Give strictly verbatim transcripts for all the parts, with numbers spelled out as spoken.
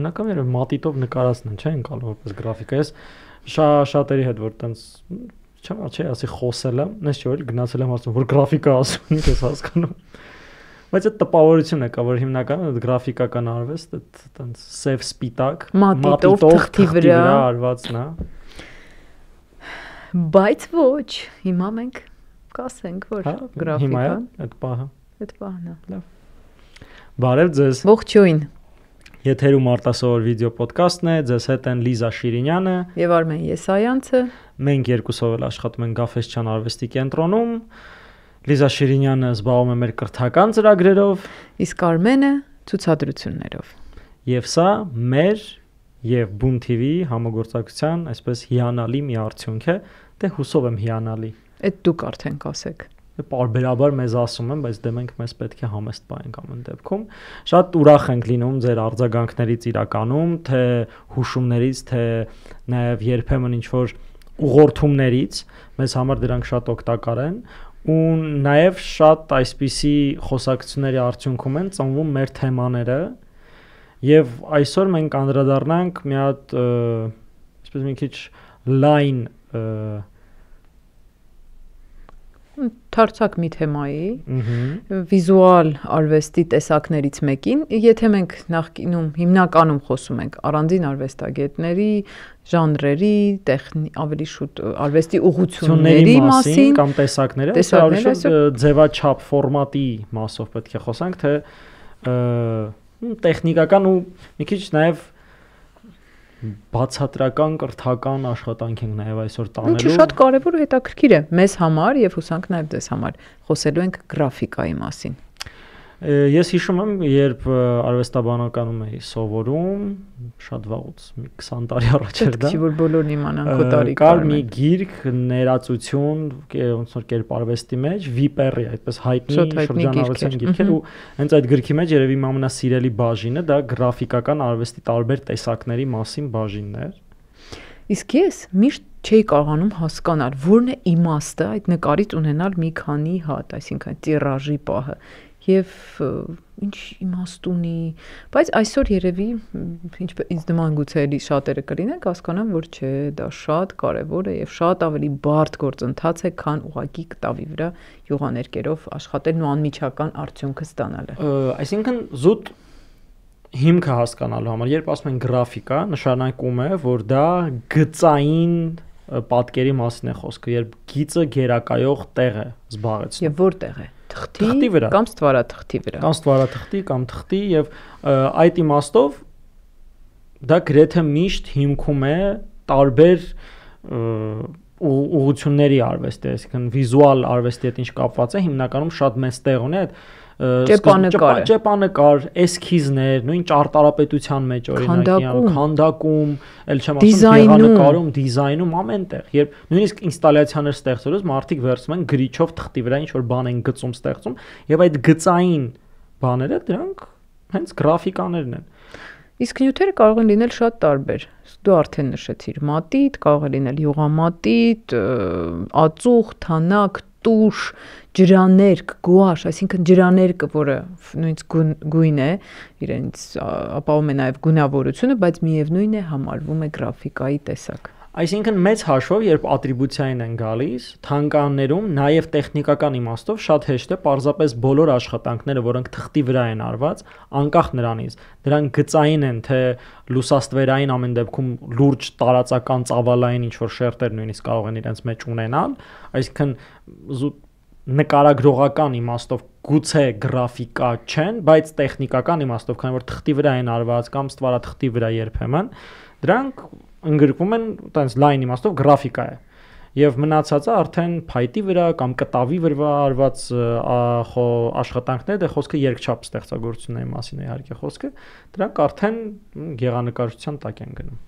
հիմնական երբ մատիտով նկարածն են, չէ՞, ընկալում որպես գրաֆիկա։ Ես շա շատերի հետ որ տենց չեմ չէ, ասի խոսել եմ, նես չէ որ գնացել եմ ասում որ գրաֆիկա ասում, ինչ ես հասկանում։ Բայց այդ տպավորությունը կա, որ հիմնականում այդ գրաֆիկական արվեստ այդ տենց սև սպիտակ մատիտով թղթի վրա արվածն է։ Բայց ոչ, հիմա մենք կասենք, որ գրաֆիկան հիմա այդ պահը այդ պահն է։ Լավ։ Բարև ձեզ։ Ողջույն։ Եթերում արտասովոր վիդեո ոդկասթն է, ձեզ հետ են Լիզա Շիրինյանը եւ Արմեն Եսայանցը։ Մենք երկուսով էլ աշխատում ենք Գաֆեսչյան արվեստի կենտրոնում։ Լիզա Շիրինյանը զբաղվում է մեր կրթական ծրագրերով, իսկ Արմենը ցուցադրություններով։ Եվ սա մեր եւ Boom T V համագործակցության այսպես հիանալի մի արդյունք է, դե հուսով եմ հիանալի։ Այդ դուք արդեն կասեք։ Պարբերաբար մեզ ասում են, բայց դե մենք մեզ պետք է համեստ պայենք ամեն դեպքում։ Շատ ուրախ ենք լինում ձեր արձագանքներից իրականում, թե հուշումներից, թե նաև երբեմն ինչ-որ ուղղորդումներից, մեզ համար դրանք շատ օգտակար են ու նաև շատ այսպիսի խոսակցությունների արդյունքում են ծնվում մեր թեմաները եւ այսօր մենք անդրադառնանք մի հատ այսպես մի քիչ լայն Թարցակ մի թեմայի, վիզուալ արվեստի տեսակներից մեկին, եթե մենք նախկինում հիմնականում խոսում ենք առանձին արվեստագետների, ժանրերի, ավելի շուտ արվեստի ուղղությունների մասին կամ տեսակները, ավելի շուտ ձևաչափ ֆորմատի մասով պետք է խոսանք, թե տեխնիկական ու մի քիչ նաև բացատրական կրթական աշխատանք ենք նաև այսօր տանելու։ Ինչը շատ կարևոր ու հետաքրքիր է մեզ համար եւ հուսանք նաև ձեզ համար։ Խոսելու ենք գրաֆիկայի մասին։ Ես հիշում եմ, երբ արվեստաբանականում էի սովորում, շատ վաղուց, մի քսան տարի առաջ էր դա։ Չի որ բոլորն իմանան քո տարիքը։ Կար մի գիրք ներածություն, ոնց որ կերպարվեստի մեջ, Վիպերի, այդպես հայտնի շրջանառության գիրքեր ու հենց այդ գրքի մեջ երևի իմ ամենասիրելի բաժինը դա գրաֆիկական արվեստի տարբեր տեսակների մասին բաժինն էր։ Իսկ ես միշտ չէի կարողանում հասկանալ, որն է իմաստը այդ նկարից ունենալ մի քանի հատ, այսինքն տիրաժի պահը։ Եվ ինչ իմաստ ունի, բայց այսօր երևի ինչպես ինձ նման գուցե էլի շատերը կլինեն, հասկանան, որ չէ, դա շատ կարևոր է եւ շատ ավելի բարդ գործընթաց է, քան ուղակի կտավի վրա յուղաներկերով աշխատելն ու անմիջական արդյունքը ստանալը։ Այսինքն զուտ հիմքը հասկանալու համար, երբ ասում են գրաֆիկա, նշանակում է, որ դա գծային պատկերի մասին է խոսքը, երբ գիծը գերակայող տեղ է զբաղեցնում։ Եվ որտեղ է։ Թղթի վրա կամ ստվարաթղթի վրա կամ ստվարաթղթի կամ թղթի եւ այդ իմաստով դա գրեթե միշտ հիմքում է տարբեր ուղղությունների արվեստի, այսինքն վիզուալ արվեստի հետ ինչ կապված է, հիմնականում շատ մեծ տեղ ունի այդ ճեպանկար, ճեպանկար, էսքիզներ, նույն ճարտարապետության մեջ օրինակ, քանդակում, ել չեմ ասում գեղանկարում, դիզայնում ամենտեղ, երբ նույնիսկ ինստալյացիաներ ստեղծելուց մարդիկ վերցնում են գրիչով թղթի վրա ինչ որ բան են գծում, ստեղծում, եւ այդ գծային բաները դրանք հենց գրաֆիկաներն են։ Իսկ նյութերը կարող են լինել շատ տարբեր։ Դու արդեն նշեցիր մատիտ, կարող է լինել յուղամատիտ, ածուխ, թանակ, տուշ, ջրաներկ, գուաշ, այսինքն ջրաներկը, որը նույնիսկ գույն է, իրենց ապահովում է նաև գունավորությունը, բայց միևնույն է համարվում է գրաֆիկայի տեսակ։ Այսինքն մեծ հաշվով, երբ ատրիբուցիային են գալիս, թանգարաններում նաև տեխնիկական իմաստով շատ հեշտ է պարզապես բոլոր աշխատանքները, որոնք թղթի վրա են արված, անկախ նրանից, դրանք գծային են, թե լուսաստվերային ամեն դեպքում լուրջ տարածական ծավալային ինչ-որ շերտեր նույնիսկ կարող են իրենց մեջ ունենալ, այսինքն զուտ նկարագրողական իմաստով գուցե գրաֆիկա չեն, բայց տեխնիկական իմաստով, քանի որ թղթի վրա են արված կամ ստվարաթղթի վրա երբեմն, դրանք ընդգրկվում են տենց լայն իմաստով գրաֆիկա է։ Եվ մնացածը արդեն փայտի վրա կամ կտավի վրա արված աշխատանքներ, դե խոսքը երկչափ ստեղծագործությունների մասին է իհարկե խոսքը, դրանք արդեն գեղանկարչության տակ են գնում։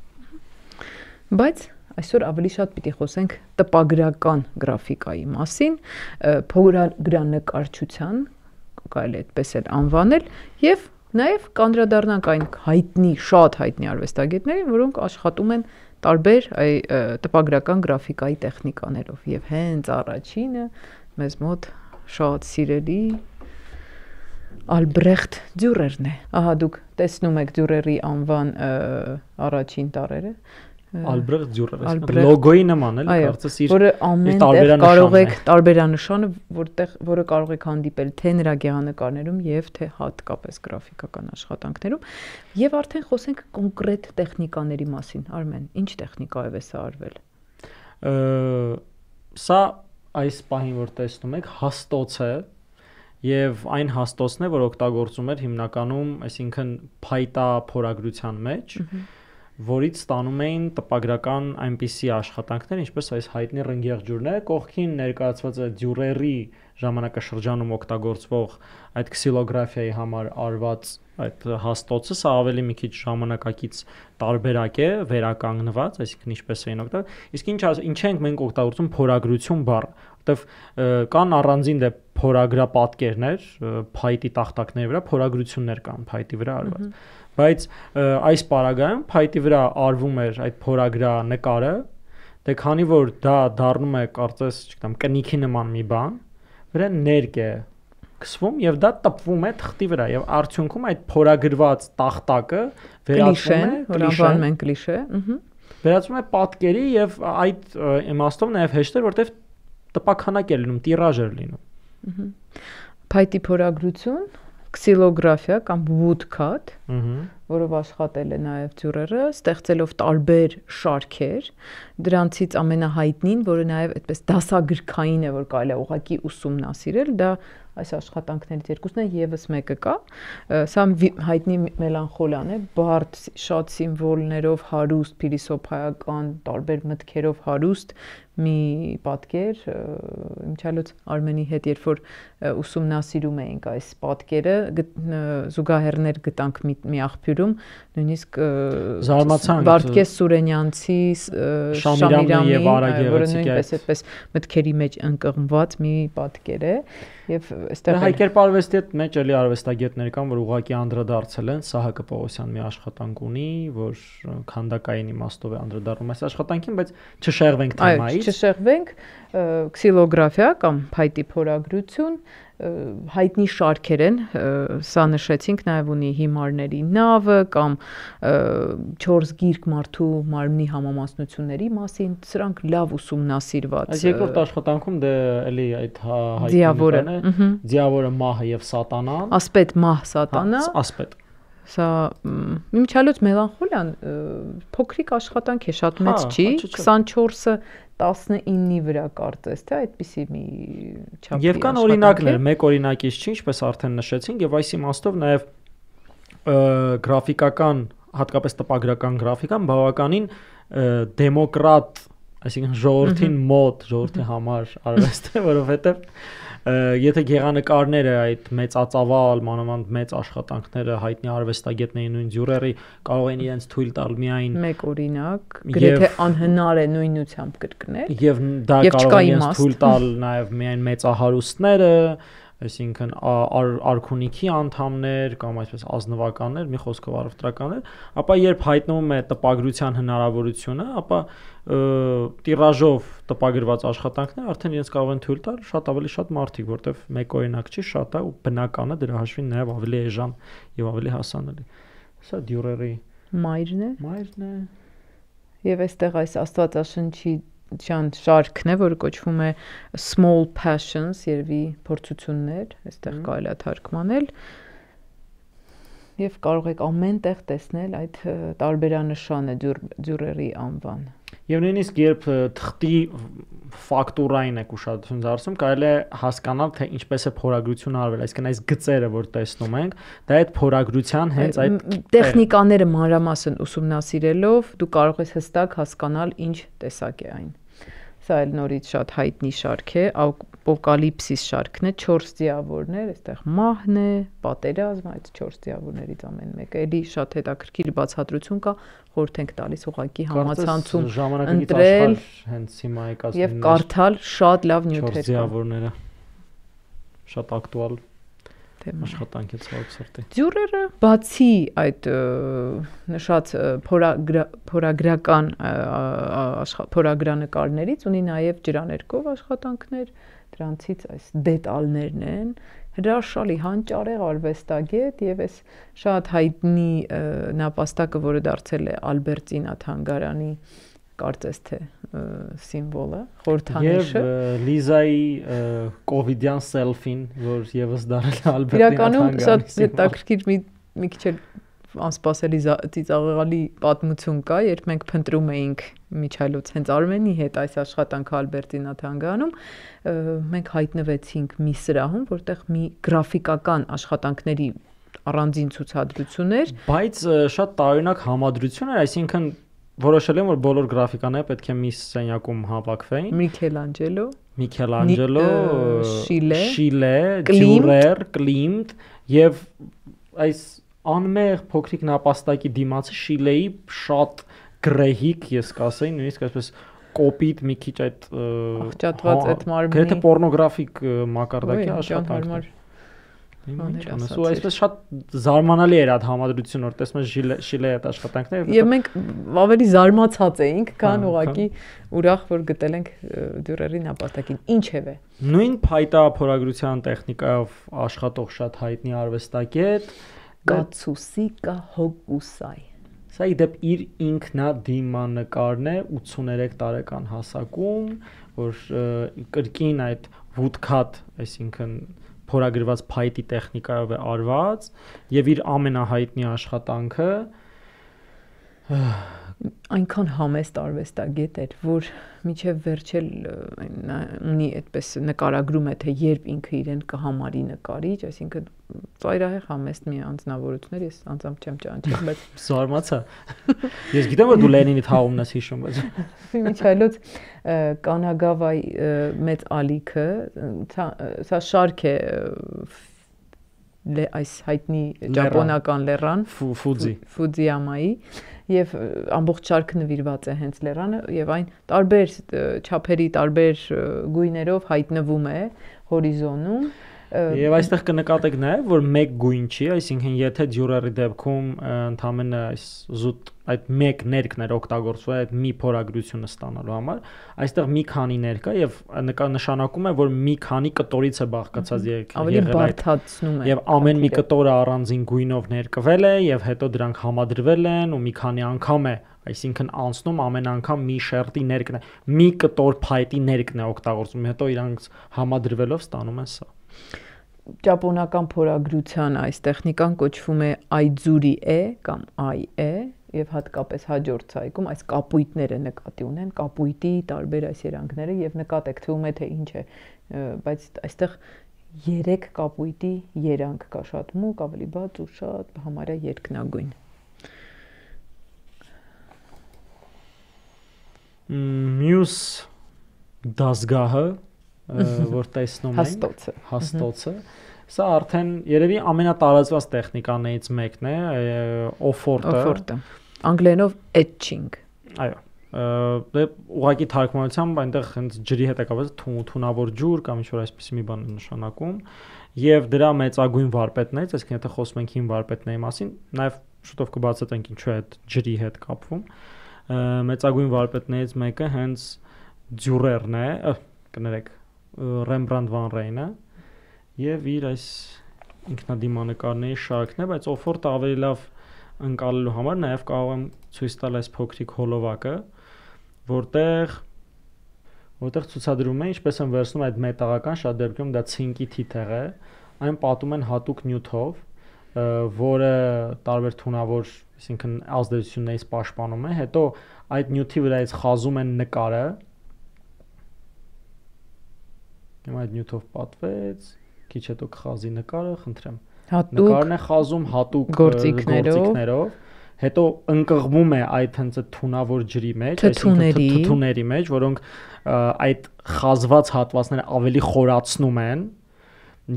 Բայց այսօր ավելի շատ պիտի խոսենք տպագրական գրաֆիկայի մասին, փորագրանկարչության, կարելի է այդպես էլ անվանել, եւ նաև կանդրադառնանք այն հայտնի, շատ հայտնի արվեստագետներին, որոնք աշխատում են տարբեր տպագրական գրաֆիկայի տեխնիկաներով եւ հենց առաջինը մեզ մոտ շատ սիրելի Ալբրեխտ Դյուրերն է։ Ահա դուք տեսնում եք Դյուրերի անվան առաջին տառերը։ Ալբրեխտ Դյուրերը լոգոյի նման էլի կարծես իր որը ամենտեղ կարող եք տարբերանշանը, որտեղ որը կարող եք հանդիպել թե նրա գեղանկարներում եւ թե հատկապես գրաֆիկական աշխատանքներում, եւ արդեն խոսենք կոնկրետ տեխնիկաների մասին։ Արմեն, ինչ տեխնիկայով է սա արվել։ Սա այս պահին որ տեսնում եք հաստոց է եւ այն հաստոցն է, որ օգտագործում էր հիմնականում, այսինքն փայտա փորագրության մեջ, որից ստանում էին տպագրական այնպիսի աշխատանքներ, ինչպես այս հայտնի ռնգեղջյուրն է, կողքին ներկայացված է Դյուրերի ժամանակաշրջանում օգտագործվող այդ քսիլոգրաֆիայի համար արված այդ հաստոցը, սա ավելի մի քիչ ժամանակակից տարբերակ է, վերականգնված, այսինքն ինչպես էին օգտագործում, իսկ ինչ ինչ ենք մենք օգտագործում փորագրություն բառը, որտեվ կան առանձին դե փորագրապատկերներ, փայտի տախտակների վրա փորագրություններ կան փայտի վրա արված, բայց այս պարագայում փայտի վրա արվում էր այդ փորագրանկարը, դե քանի որ դա դառնում է կարծես, չգիտեմ, կնիքի նման մի բան, վրա ներկ է քսվում եւ դա տպվում է թղթի վրա եւ արդյունքում այդ փորագրված տախտակը վերածվում է, որ անվանում են կլիշե, վերածվում է պատկերի եւ այդ իմաստով նաեւ հեշտ է, որտեվ տպաքանակ է լինում, տիրաժ է լինում։ Փայտի փորագրություն, քսիլոգրաֆիա կամ woodcut, որով աշխատել է նաև Դյուրերը, ստեղծելով տարբեր շարքեր, դրանցից ամենահայտնին, որը նաև այդպես դասագրքային է, որ կարելի է ուղղակի ուսումնասիրել, դա այս աշխատանքներից երկուսն է, եւս մեկը կա, սա հայտնի մելանխոլիան է, բարդ շատ սիմվոլներով հարուստ, փիլիսոփայական, տարբեր մտքերով հարուստ մի պատկեր, իմչալոց Արմենի հետ երբ որ ուսումնասիրում էինք այս պատկերը, զուգահեռներ գտանք մի, մի աղբյուրում, նույնիսկ Վարդգես Սուրենյանցի Շամիրամի եւ որը նույնպես այդպես մտքերի մեջ ընկղմված մի պատկեր է եւ այստեղ հայկերպարվեստի հետ մեջ էլի արվեստագետներ կան, որ ուղղակի անդրադարձել են, Սահակը Պողոսյան մի աշխատանք ունի, որ քանդակային իմաստով է անդրադառնում այս աշխատանքին, բայց չշեղվենք թեմայից։ Չշեղվենք, քսիլոգրաֆիա կամ փայտի փորագրություն, հայտնի շարքեր են, սա նշեցինք, նաև ունի հիմարների նավը կամ չորս գիրք մարդու մարմնի համամասնությունների մասին, սրանք լավ ուսումնասիրված։ Այս երկրորդ աշխատանքում դե էլի այդ հայտնի Ձիավորը մահը եւ սատանան, ասպետ մահ սատանա, ասպետ Սա իմչալոց մելանխոլիան փոքրիկ աշխատանք է, շատ մեծ չի, քսանչորսը տասնինի վրա կարծես, թե այդպիսի մի չափի Եվ կան օրինակներ, մեկ օրինակից չի, ինչպես արդեն նշեցինք, եւ այս իմաստով նաեւ գրաֆիկական, հատկապես տպագրական գրաֆիկան բավականին դեմոկրատ, այսինքն ժողովրդին մոտ, ժողովրդի համար արվեստ է, որովհետեւ եթե գեղանկարները այդ մեծածավալ, մանավանդ մեծ աշխատանքները հայտնի արվեստագետների նույն Դյուրերի կարող են իրենց թույլ տալ միայն մեկ օրինակ, գրեթե անհնար է նույնությամբ կրկնել, եւ դա կարող են իրենց թույլ տալ նաեւ միայն մեծահարուստները, այսինքն արքունիքի անդամներ կամ այսպես ազնվականներ, մի խոսքով առևտրականներ, ապա երբ հայտնվում է տպագրության հնարավորությունը, ապա տիրաժով տպագրված աշխատանքներ արդեն իրենց կարող են թույլ տալ շատ ավելի շատ մարդիկ, որտեվ մեկ օրինակ չի, շատ է ու բնական է դրա հաշվին նաև ավելի էժան եւ ավելի հասանելի։ Սա Դյուրերի մայրն է։ Մայրն է։ Եվ այստեղ այս Աստվածաշնչի Չան շարքն է, որը կոչվում է Small Passions, երևի փորձություններ, այստեղ կարելի է թարգմանել, եւ կարող եք ամեն տեղ տեսնել այդ տարբերանշանը Դյուրերի անվան։ Եվ նույնիսկ երբ թղթի ֆակտուրային եք ուշադրություն դարձնում, կարելի է հասկանալ, թե ինչպես է փորագրությունը արվել, այսինքն այս գծերը, որ տեսնում ենք, դա այդ փորագրության հենց այդ տեխնիկաները մանրամասն ուսումնասիրելով դու կարող ես հստակ հասկանալ ինչ տեսակ է այն։ Սա էլ նորից շատ հայտնի շարք է, Ապոկալիպսիս շարքն է, չորս ձիավորներ, այստեղ մահն է, պատերազմ, այդ չորս ձիավորներից ամեն մեկը, էլի շատ հետաքրքիր բացատրություն կա, խորհուրդ ենք տալիս ուղղակի համացանցում ընտրել հենց հիմա եկած եւ կարդալ շատ լավ նյութեր կան։ Ձիավորները շատ ակտուալ աշխատանք է ցավոք սրտի։ Դյուրերը բացի այդ նշած փորագրական փորագրանկարներից ունի նաև ջրաներկով աշխատանքներ, դրանցից այս դետալներն են, հրաշալի հանճարեղ արվեստագետ եւ այս շատ հայտնի նապաստակը, որը դարձել է Ալբերտինա թանգարանի կարծես թե սիմվոլը, խորհրդանիշը եւ Լիզայի կովիդյան սելֆին, որ եւս դարձել է Ալբերտինա թանգարանի։ Իրականում սա հետաքրքիր մի մի քիչ անսպասելի ծիծաղալի պատմություն կա, երբ մենք փնտրում էինք Միչայլոց հենց Արմենի հետ այս աշխատանքը Ալբերտինա թանգարանում, մենք հայտնվեցինք մի սրահում, որտեղ մի գրաֆիկական աշխատանքների առանձին ցուցադրություն էր, բայց շատ տարօրինակ համադրություն էր, այսինքն որոշել եմ, որ բոլոր գրաֆիկաները պետք է մի սենյակում հավաքվեին։ Միքելանջելո, Միքելանջելո, Շիլե, Շիլե, Դյուրեր, Կլիմտ եւ այս անմեղ փոքրիկ նապաստակի դիմացը Շիլեի շատ գրեհիկ, ես կասեի, նույնիսկ այսպես կոպիտ մի քիչ այդ աղճատված այդ մարմնի գրեթե պորնոգրաֆիկ մակարդակի աշխատանքներ։ Բաներ Ու այսպես շատ զարմանալի էր այդ համադրությունը, որ տեսնում ես Շիլեի այդ աշխատանքները։ Եվ մենք ավելի զարմացած էինք, քան ուղղակի ուրախ, որ գտել ենք Դյուրերի նապաստակին։ Ինչևէ, նույն փայտա փորագրության տեխնիկայով աշխատող շատ հայտնի արվեստագետ Կացուսիկա Հոկուսայ։ Սա իդեպ իր ինքնադիմանկարն է ութսուներեք տարեկան հասակում, որ կրկին այդ woodcut, այսինքն փորագրված փայտի տեխնիկայով է արված եւ իր ամենահայտնի աշխատանքը այնքան համեստ արվեստագետ էր, որ միջև վերջել ունի այդպես նկարագրում է, թե երբ ինքը իրեն կհամարի նկարիչ, այսինքն ծայրահեղ համեստ մի անձնավորություն էր, ես անձամբ չեմ ճանաչել, բայց զարմացա։ Ես գիտեմ, որ դու Լենինի թաղումն ես հիշում, բայց Միչայլոց Կանագավայի մեծ ալիքը, սա շարք է այս հայտնի ճապոնական լեռան Ֆուձի Ֆուձիյամայի եւ ամբողջ շարքը նվիրված է հենց լեռանը եւ այն տարբեր չափերի, տարբեր գույներով հայտնվում է հորիզոնում Եվ այստեղ կնկատեք նաև, որ մեկ գույն չի, այսինքն եթե Դյուրերի դեպքում ընդամենը այս զուտ այդ մեկ ներկն էր օգտագործվում այդ մի փորագրությունը ստանալու համար, այստեղ մի քանի ներկ է եւ նշանակում է, որ մի քանի կտորից է բաղկացած ավելի բարդացնում է։ Եվ ամեն մի կտորը առանձին գույնով ներկվել է եւ հետո դրանք համադրվել են ու մի քանի անգամ է, այսինքն անցնում ամեն անգամ մի շերտի ներկն է, մի կտոր փայտի ներկն է օգտագործում, հետո իրանք համադրվելով ստանում են սա։ Ճապոնական փորագրության այս տեխնիկան կոչվում է Այձուրի է կամ Այ է եւ հատկապես հաջորդ ցայքում այս կապույտները նկատի ունեն, կապույտի տարբեր այս երանգները եւ նկատեք թվում է թե ինչ է, բայց այստեղ երեք կապույտի երանգ կա, շատ մուգ, ավելի բաց ու շատ համարյա երկնագույն։ Մյուս դասգահը որ տեսնում ենք հաստոցը հաստոցը սա արդեն երևի ամենատարածված տեխնիկաներից մեկն է օֆորտը օֆորտը անգլերենով etching այո դե ուղղակի թարգմանությամբ այնտեղ հենց ջրի հետ է կապված թունավոր ջուր կամ ինչ որ այսպեսի մի բան է նշանակում եւ դրա մեծագույն վարպետներից այսինքն եթե խոսում ենք հին վարպետների մասին նաեւ շուտով կբացատրենք ինչու է այդ ջրի հետ կապվում մեծագույն վարպետներից մեկը հենց Դյուրերն է կներեք Ռեմբրանդ վան Ռեյնը եւ իր այս ինքնադիմանկարների շարքն է, բայց օֆորտը ավելի լավ ընկալելու համար նաեւ կարող եմ ցույց տալ այս փոքրիկ հոլովակը, որտեղ որտեղ ցուցադրում է ինչպես են վերցնում այդ մետաղական շատ դեպքում դա ցինկի թիթեղ է, այն պատում են հատուկ նյութով, որը տարբեր թունավոր, այսինքն ազդեցություններից պաշտպանում է, հետո այդ նյութի վրայից խազում են նկարը Հիմա այդ նյութով պատվեց, քիչ հետո կխազի նկարը, խնդրեմ։ Նկարն է խազում հատուկ գործիքներով, հետո ընկղվում է այդ հենց այդ թունավոր ջրի մեջ, այսինքն թթուների մեջ, որոնք այդ խազված հատվածները ավելի խորացնում են,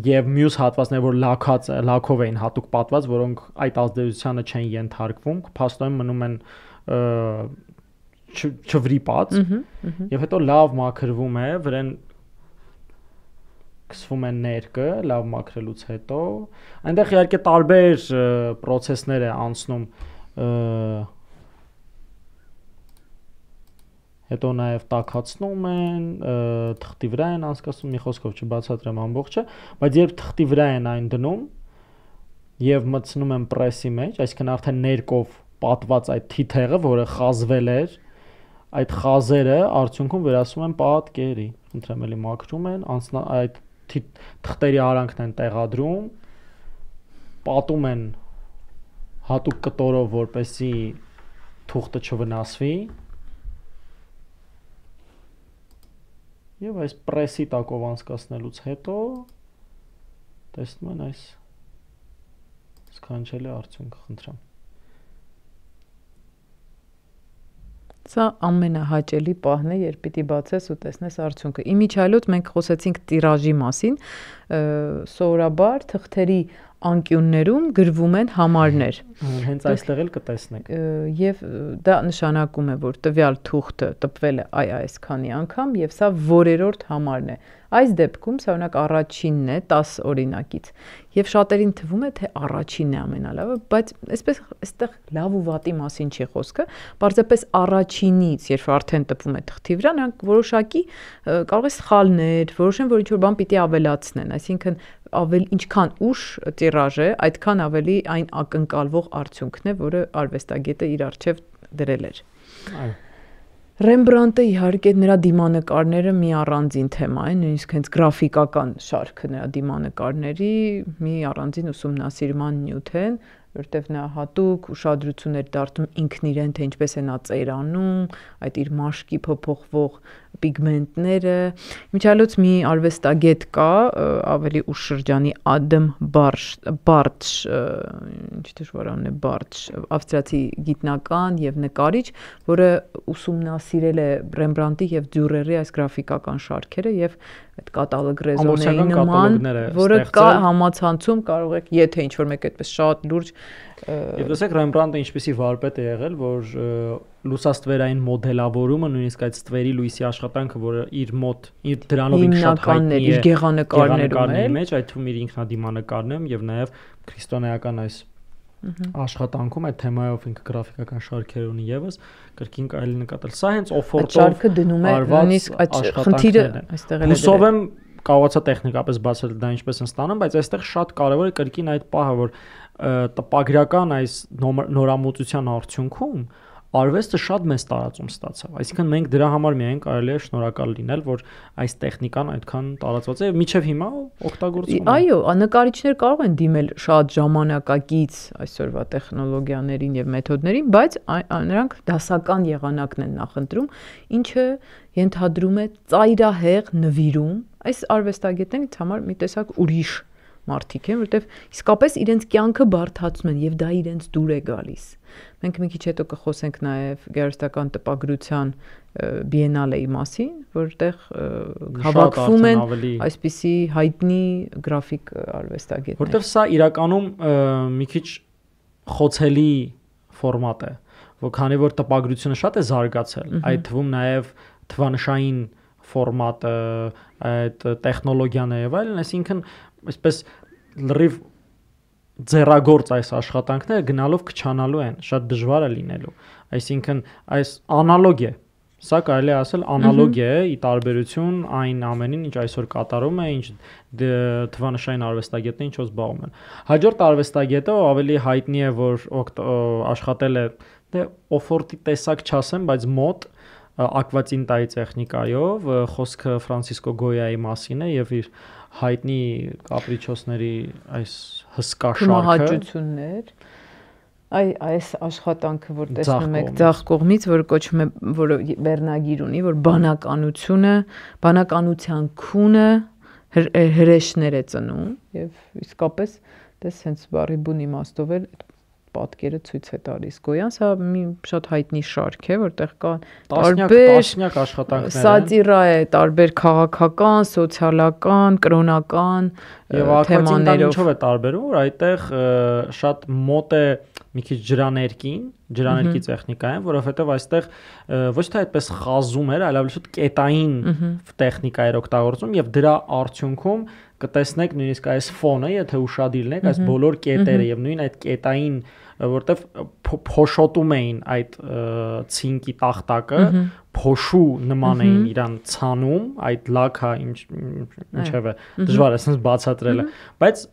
եւ մյուս հատվածները, որ լաքած լաքով էին հատուկ պատված, որոնք այդ ազդեցությանը չեն ենթարկվում, փաստորեն մնում են չվրիպած, եւ հետո լավ մաքրվում է, վրան կսվում են ներկը, լավ մաքրելուց հետո, այնտեղ իհարկե տարբեր process-ներ է անցնում հետո նաև տաքացնում են, թղթի վրա են անցկացնում, մի խոսքով չբացատրեմ ամբողջը, բայց երբ թղթի վրա են այն դնում եւ մտցնում են պրեսի մեջ, այսինքն արդեն ներկով պատված այդ թիթեղը, որը խազվել էր, այդ խազերը արդյունքում վերածվում են պատկերի, խնդրեմ էլի մաքրում են, անցնա այդ թղթերի արանքն են տեղադրում, պատում են հատուկ կտորով, որպեսզի թուղթը չվնասվի, եւ այս պրեսի տակով անցկացնելուց հետո տեսնում են այս սքանչելի արդյունքը, խնդրեմ։ Սա ամենահաճելի պահն է, երբ պիտի բացես ու տեսնես արդյունքը։ Իմիջիայլոց մենք խոսեցինք տիրաժի մասին, սովորաբար թղթերի անկյուններում գրվում են համարներ։ Հենց այստեղ էլ կտեսնեք։ Եվ դա նշանակում է, որ տվյալ թուղթը տպվել է այ այսքանի անգամ եւ սա որերորդ համարն է։ Այս դեպքում սա օրինակ առաջինն է տաս օրինակից եւ շատերին թվում է թե առաջինն է ամենալավը, բայց այսպես այստեղ լավ ու վատի մասին չի խոսքը, պարզապես առաջինից, երբ արդեն տպվում է թղթի վրա, նրանք որոշակի կարող է սխալներ, որոշեն, որ ինչ-որ բան պիտի ավելացնեն, այսինքն ավել ինչքան ուշ տիրաժ է, այդքան ավելի այն ակնկալվող արդյունքն է, որը արվեստագետը իր առջև դրել էր։ Այո։ Ռեմբրանտը իհարկե նրա դիմանկարները մի առանձին թեմա է, նույնիսկ հենց գրաֆիկական շարքը նրա դիմանկարների մի առանձին ուսումնասիրման նյութ են, որտեղ նա հատուկ ուշադրություն էր դարձնում ինքն իրեն, թե ինչպես է նա ծերանում, այդ իր մաշկի փոփոխվող պիգմենտները։ Միջալոց մի արվեստագետ կա, ավելի ուշ շրջանի Ադամ Բարտշ, ինչ դժվարանն է Բարտշ, ավստրիացի գիտնական եւ նկարիչ, որը ուսումնասիրել է Ռեմբրանտի եւ Դյուրերի այս գրաֆիկական շարքերը եւ այդ կատալոգ ռեզոների նման, որը կա համացանցում, կարող եք, եթե ինչ-որ մեկ այդպես շատ լուրջ Եվ տեսեք Ռեմբրանտը ինչպեսի վարպետ է եղել, որ լուսաստվերային մոդելավորումը, նույնիսկ այդ ստվերի լույսի աշխատանքը, որը իր մոտ, իր դրանով ինքն շատ հայտնի է, իր գեղանկարներում մեջ, այդ թվում իր ինքնադիմանկարներում եւ նաեւ քրիստոնեական այս աշխատանքում այդ թեմայով ինքը գրաֆիկական շարքեր ունի եւս կրկին կարելի նկատել։ Սա հենց օֆորտով շարքը դնում է նույնիսկ այդ խնդիրը այստեղ էլ է։ Հուսով եմ կարողացա տեխնիկապես բացել դա ինչպես են ստանում, բայց այստեղ շատ կարևոր է կրկին այդ պահը, որ տպագրական այս նորամուծության արդյունքում արվեստը շատ մեծ տարածում ստացավ։ Այսինքն մենք դրա համար միայն կարելի է շնորհակալ լինել, որ այս տեխնիկան այդքան տարածված է եւ մինչեւ հիմա օգտագործվում է։ Այո, նկարիչներ կարող են դիմել շատ ժամանակակից այսօրվա տեխնոլոգիաներին եւ մեթոդներին, բայց նրանք դասական եղանակն են նախընտրում, ինչը ենթադրում է ծայրահեղ նվիրում։ Այս արվեստագետներից համար մի տեսակ ուրիշ մարդիկ են, որտեվ իսկապես իրենց կյանքը բարդացնում են եւ դա իրենց դուր է գալիս։ Մենք մի քիչ հետո կխոսենք նաեւ գեղարվեստական տպագրության բիենալեի մասին, որտեղ հավաքվում են այսպիսի հայտնի գրաֆիկ արվեստագետներ։ Որտեվ սա իրականում մի քիչ խոցելի ֆորմատ է, որ քանի որ տպագրությունը շատ է զարգացել, այդ թվում նաեւ թվանշային ֆորմատը, այդ տեխնոլոգիան եւ այլն, այսինքն այսպես լրիվ ձեռագործ այս աշխատանքները գնալով քչանալու են, շատ դժվար է լինելու։ Այսինքն այս անալոգ է։ Սա կարելի է ասել անալոգ է ի տարբերություն այն ամենին, ինչ այսօր կատարում է, ինչ թվանշային արվեստագետները ինչով զբաղվում են։ Հաջորդ արվեստագետը ավելի հայտնի է, որ աշխատել է դե օֆորտի տեսակ չասեմ, բայց մոտ ակվատինտայի տեխնիկայով, խոսքը Ֆրանցիսկո Գոյայի մասին է եւ իր հայտնի կապրիչոսների այս հսկա շարքը մահաճություններ այ այս աշխատանքը որ տեսնում եք ձախ կողմից, որը կոչվում է, որը վերնագիր ունի, որ բանականությունը, բանականության քունը հրեշներ է ծնում եւ իսկապես դες հենց բարի բուն իմաստով էլ պատկերը ցույց է տալիս Գոյան, սա մի շատ հայտնի շարք է, որտեղ կա տասնյակ աշխատանքներ են։ Սատիրա է, տարբեր քաղաքական, սոցիալական, կրոնական թեմաներով։ Ինչով է տարբերում, որ այդտեղ շատ մոտ է մի քիչ ջրաներկին, ջրաներկի տեխնիկային, որովհետև այստեղ ոչ թե այդպես խազում էր, այլ ավելի շատ կետային տեխնիկա էր օգտագործում եւ դրա արդյունքում կտեսնեք նույնիսկ այս ֆոնը, եթե ուշադիր լինեք, այս բոլոր կետերը եւ նույն այդ կետային, որտեվ փոշոտում էին այդ ցինկի տախտակը, փոշու նման էին իրան ցանում, այդ լաքը ինչևէ դժվար է sense բացատրելը, բայց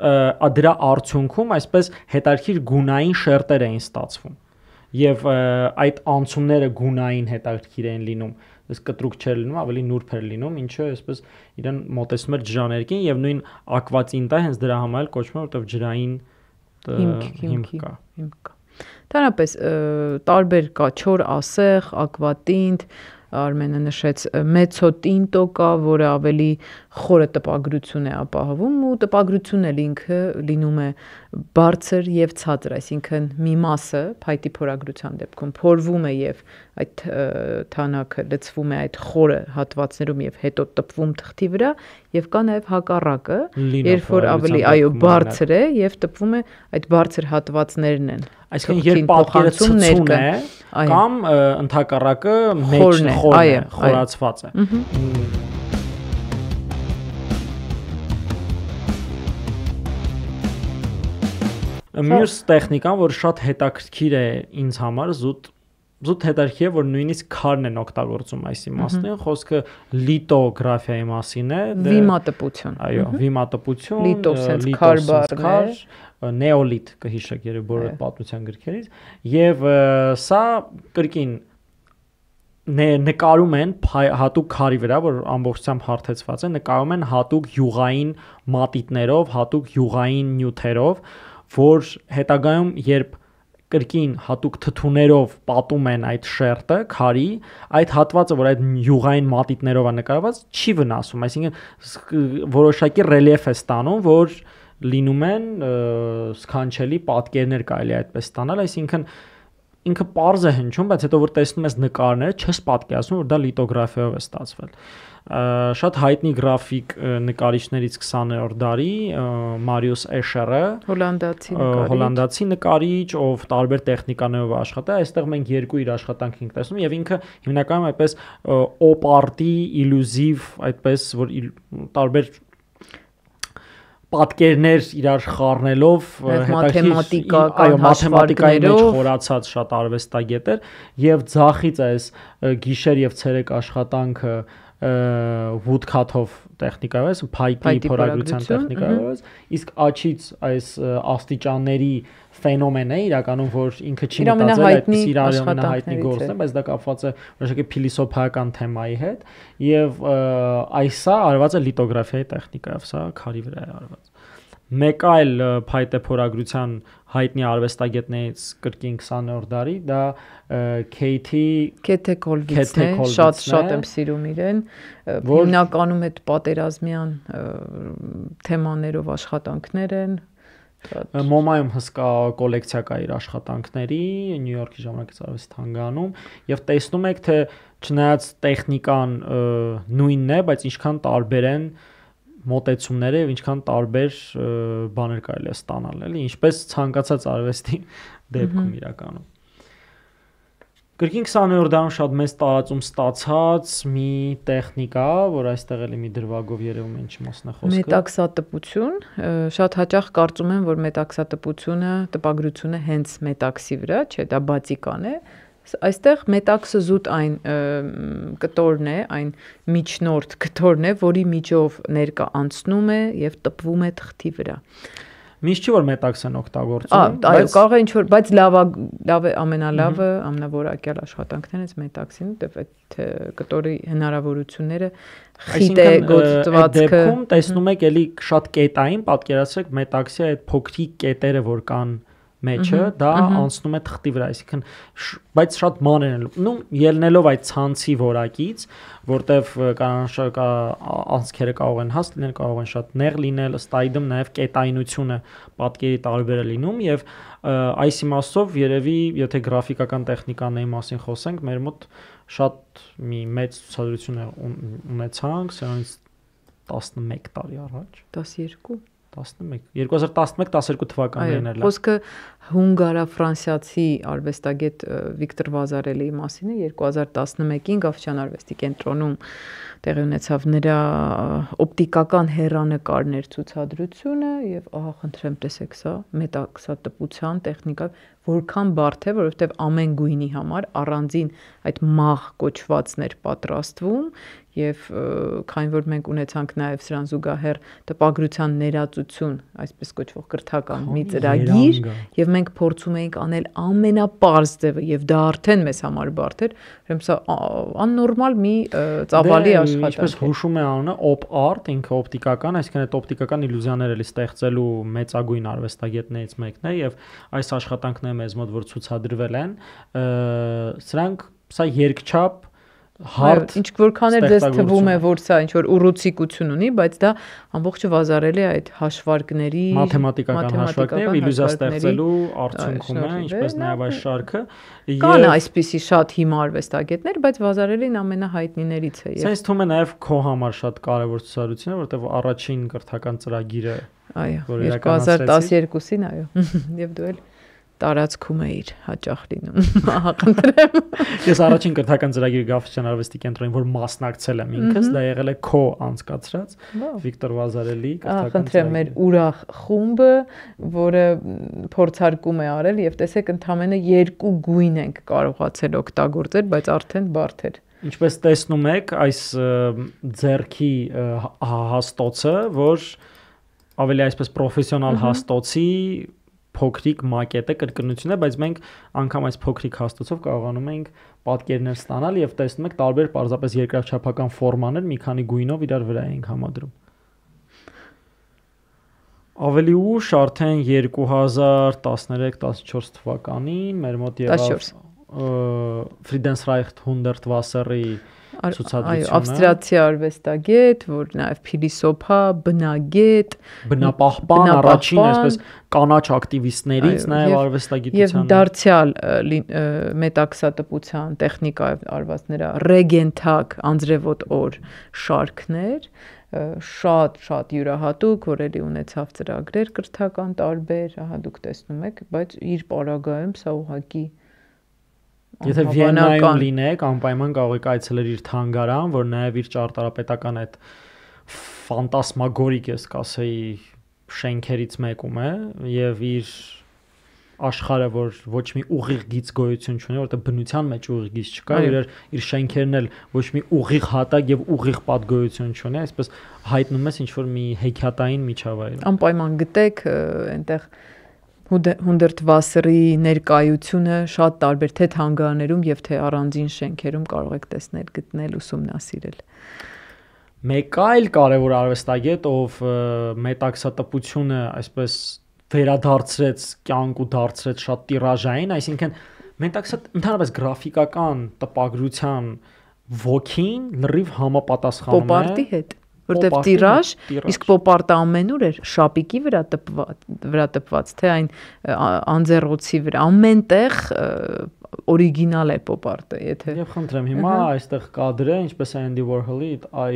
դրա արդյունքում այսպես հետարքիր գունային շերտեր էին ստացվում եւ այդ անցումները գունային հետարքիր էին լինում, այս կտրուկ չէր լինում, ավելի նուրբ էր լինում, ինչը այսպես իրան մոտեցնում էր ջրաներկին եւ նույն ակվատինտը հենց դրա համար կոչվում է, որտեվ ջրային հիմք կա։ Դրանպես տարբեր կա չոր ասեղ, ակվատինտ, Արմենը նշեց մեծոտինտո կա, որը ավելի խորը տպագրություն է ապահովում ու տպագրությունն էլ ինքը լինում է բարձր եւ ցածր, այսինքն մի մասը փայտի փորագրության դեպքում փորվում է եւ այդ թանակը լցվում է այդ խորը հատվածներում եւ հետո տպվում թղթի վրա եւ կա նաեւ հակառակը, երբ որ ավելի այո բարձր է եւ տպվում է այդ բարձր հատվածներն են։ Այսինքն երբ պատկերը ցցուն է կամ ընդհակառակը մեջն խորն է, խորացված է։ Մյուս տեխնիկան, որ շատ հետաքրքիր է ինձ համար, զուտ զուտ հետաքրքիր է, որ նույնիսկ քարն են օգտագործում այս իմաստին, խոսքը լիտոգրաֆիայի մասին է, վիմատպություն։ Այո, վիմատպություն, լիտո sense քար բառն է, նեոլիթ կհիշեք երբ բոլոր պատմության գրքերից, եւ սա կրկին նկարում են հատուկ քարի վրա, որ ամբողջությամբ հարթեցված է, նկարում են հատուկ յուղային մատիտներով, հատուկ յուղային նյութերով, որ հետագայում երբ կրկին հատուկ թթուներով պատում են այդ շերտը, քարի, այդ հատվածը, որ այդ յուղային մատիտներով է նկարված, չի վնասում, այսինքն որոշակի ռելիեֆ է ստանում, որ լինում են սքանչելի պատկերներ կարելի է այդպես ստանալ, այսինքն ինքը պարզ է հնչում, բայց հետո որ տեսնում ես նկարները, չես պատկերացնում, որ դա լիտոգրաֆիայով է ստացվել։ Շատ հայտնի գրաֆիկ նկարիչներից քսաներորդ դարի Մարիուս Էշերը, հոլանդացի նկարիչ, հոլանդացի նկարիչ, ով տարբեր տեխնիկաներով աշխատել է, այստեղ մենք երկու իր աշխատանք ենք տեսնում եւ ինքը հիմնականում այդպես օպ-արտի իլյուզիվ, այդպես որ տարբեր պատկերներ իրար խառնելով մաթեմատիկա, այո, մաթեմատիկայի մեջ խորացած շատ արվեստագետ էր եւ ձախից այս գիշեր եւ ցերեկ աշխատանքը woodcut-ով տեխնիկայով, այս փայտի փորագրության տեխնիկայով, իսկ աչից այս աստիճանների ֆենոմենը իրականում որ ինքը չի մտածել այդպես իր ամենահայտնի գործն է, բայց դա կապված է որոշակի փիլիսոփայական թեմայի հետ եւ այսա արված է լիտոգրաֆիայի տեխնիկայով, սա քարի վրա է արված։ Մեկ այլ փայտե փորագրության հայտնի արվեստագետներից կրկին քսաներորդ դարի դա Քեյթի Քեթե Կոլվիցն է, շատ շատ եմ սիրում իրեն, հիմնականում այդ պատերազմյան թեմաներով աշխատանքներ են։ Մոմայում հսկա կոլեկցիա կա իր աշխատանքների, Նյու Յորքի ժամանակից արվեստի թանգարանում եւ տեսնում եք թե չնայած տեխնիկան նույնն է, բայց ինչքան տարբեր են մոտեցումները եւ ինչքան տարբեր բաներ կարելի է ստանալ, էլի, ինչպես ցանկացած արվեստի դեպքում իրականում։ Կրկին քսաներորդ դարում շատ մեծ տարածում ստացած մի տեխնիկա, որ այստեղ էլի մի դրվագով երևում է ինչ մասն է խոսքը։ Մետաքսատպություն, շատ հաճախ կարծում են, որ մետաքսատպությունը, տպագրությունը հենց մետաքսի վրա, չէ, դա բացիկան է։ Այստեղ մետաքսը զուտ այն կտորն է, այն միջնորդ կտորն է, որի միջով ներկա անցնում է եւ տպվում է թղթի վրա։ Միշտ չի որ մետաքսն օգտագործում, բայց կարող է ինչ որ, բայց լավը լավ է ամենալավը, ամենավորակյալ աշխատանքներից մետաքսին, դեպ այդ կտորի հնարավորությունները խիտ է գործվածքը։ Դեպքում տեսնում եք էլի շատ կետային, պատկերացրեք մետաքսի այդ փոքրիկ կետերը, որ կան մեջը, դա անցնում է թղթի վրա, այսինքն բայց շատ մանր են, նու ելնելով այդ ցանցի որակից, որտեվ կանանշակա անցքերը կարող են հաստ լինել, կարող են շատ նեղ լինել, ըստ այդմ նաև կետայնությունը պատկերի տարբեր է լինում եւ այս իմաստով երևի եթե գրաֆիկական տեխնիկաների մասին խոսենք, մեր մոտ շատ մի մեծ ցուցադրություն ունեցանք սրանից տասնմեկ տարի առաջ, տասներկու տասնմեկ երկու հազար տասնմեկ տասներկու թվականներին էլ։ Խոսքը հունգարա-ֆրանսիացի արվեստագետ Վիկտոր Վազարելիի մասին է, երկու հազար տասնմեկին Գավթյան արվեստի կենտրոնում տեղի ունեցավ նրա օպտիկական հեռանկարներ ցուցադրությունը եւ ահա խնդրեմ տեսեք սա մետաքսատպության տեխնիկա որքան բարդ է, որովհետեւ ամեն գույնի համար առանձին այդ մաղ կոչվածներ պատրաստվում եւ քանի որ մենք ունեցանք նաեւ սրան զուգահեռ տպագրության ներածություն, այսպես կոչվող կրթական մի ծրագիր եւ մենք փորձում էինք անել ամենապարզ ձևը եւ դա արդեն մեզ համար բարդ էր, ուրեմն սա աննորմալ մի ծավալի աշխատանք է։ Ինչպես հուշում է անունը op art, ինքը օպտիկական, այսինքն այդ օպտիկական իլյուզիաները էլի ստեղծելու մեծագույն արվեստագետներից մեկն է եւ այս աշխատանքները մեզ մոտ որ ցուցադրվել են, սրանք սա երկչափ հարթ ինչ որքան էլ դες թվում է որ սա ինչ որ ուռուցիկություն ունի, բայց դա ամբողջը վազարելի է այդ հաշվարկների մաթեմատիկական հաշվարկներ իլյուզիա ստեղծելու արդյունքում է, ինչպես նաև այս շարքը կան այսպիսի շատ հիմա արվեստագետներ, բայց վազարելին ամենահայտնիներից է։ Սենց թվում է նաև քո համար շատ կարևոր ցուցադրություն է, որտեղ առաջին կրթական ծրագիրը այո երկու հազար տասներկուսին այո եւ դու էլ տարածքում էիր հաճախ լինում ախնդրեմ Ես առաջին կրթական ծրագիրը Գավթյան արվեստի կենտրոնին որ մասնակցել եմ ինքս դա եղել է քո անցկացրած Վիկտոր Վազարելի կրթական ծրագիրը մեր ուրախ խումբը որը փորձարկում է արել եւ տեսեք ընդամենը երկու գույն ենք կարողացել օգտագործել բայց արդեն բարդ էր Ինչպես տեսնում եք այս ձեռքի հաստոցը որ ավելի այսպես պրոֆեսիոնալ հաստոցի փոքրիկ մակետ է կրկնություն է, բայց մենք անգամ այս փոքրիկ հաստոցով կարողանում ենք պատկերներ ստանալ եւ տեսնում եք տարբեր պարզապես երկրաչափական ֆորմաներ մի քանի գույնով իրար վրա ենք համադրում։ Ավելի ուշ արդեն երկու հազար տասներեք տասնչորս թվականին մեր մոտ եղավ Friedensreich Hundertwasser-ի Այո, ավստրիացի արվեստագետ, որ նաև փիլիսոփա, բնագետ, բնապահպան, առաջին այսպես կանաչ ակտիվիստներից նաև արվեստագիտության եւ դարձյալ մետաքսատպության տեխնիկայով արված նրա ռեգենթակ անձրևոտ օր շարքներ շատ շատ յուրահատուկ, որ էլի ունեցավ ծրագրեր կրթական տարբեր, ահա դուք տեսնում եք, բայց իր պարագայում սա ուղղակի Եթե Վիեննայում լինեք, անպայման կարող եք այցելել իր թանգարան, որ նաև իր ճարտարապետական այդ ֆանտասմագորիկ ես կասեի շենքերից մեկում է եւ իր աշխարհը, որ ոչ մի ուղիղ գիծ գոյություն չունի, որտեղ բնության մեջ ուղիղ գիծ չկա, իր իր շենքերն էլ ոչ մի ուղիղ հատակ եւ ուղիղ պատգոյություն չունի, այսպես հայտնում ես ինչ որ մի հեքիաթային միջավայր։ Անպայման գտեք այնտեղ Hundertwasser-ի ներկայությունը շատ տարբեր թե թանգարաններում եւ թե առանձին շենքերում կարող եք տեսնել, գտնել, ուսումնասիրել։ Մեկ այլ կարևոր արվեստագետ, ով մետաքսատպությունը այսպես վերադարձրեց կյանք ու դարձրեց շատ տիրաժային, այսինքն մետաքսատ ընդհանրապես գրաֆիկական տպագրության ոգին լրիվ համապատասխանում է Պոպարտի հետ որտեվ տիրաժ, իսկ պոպարտը ամենուր էր շապիկի վրա տպված, վրա տպված, թե այն անձեռոցի վրա, ամենտեղ օրիգինալ է պոպարտը, եթե Եվ խնդրեմ, հիմա այստեղ կադր է, ինչպես է Andy Warhol-ի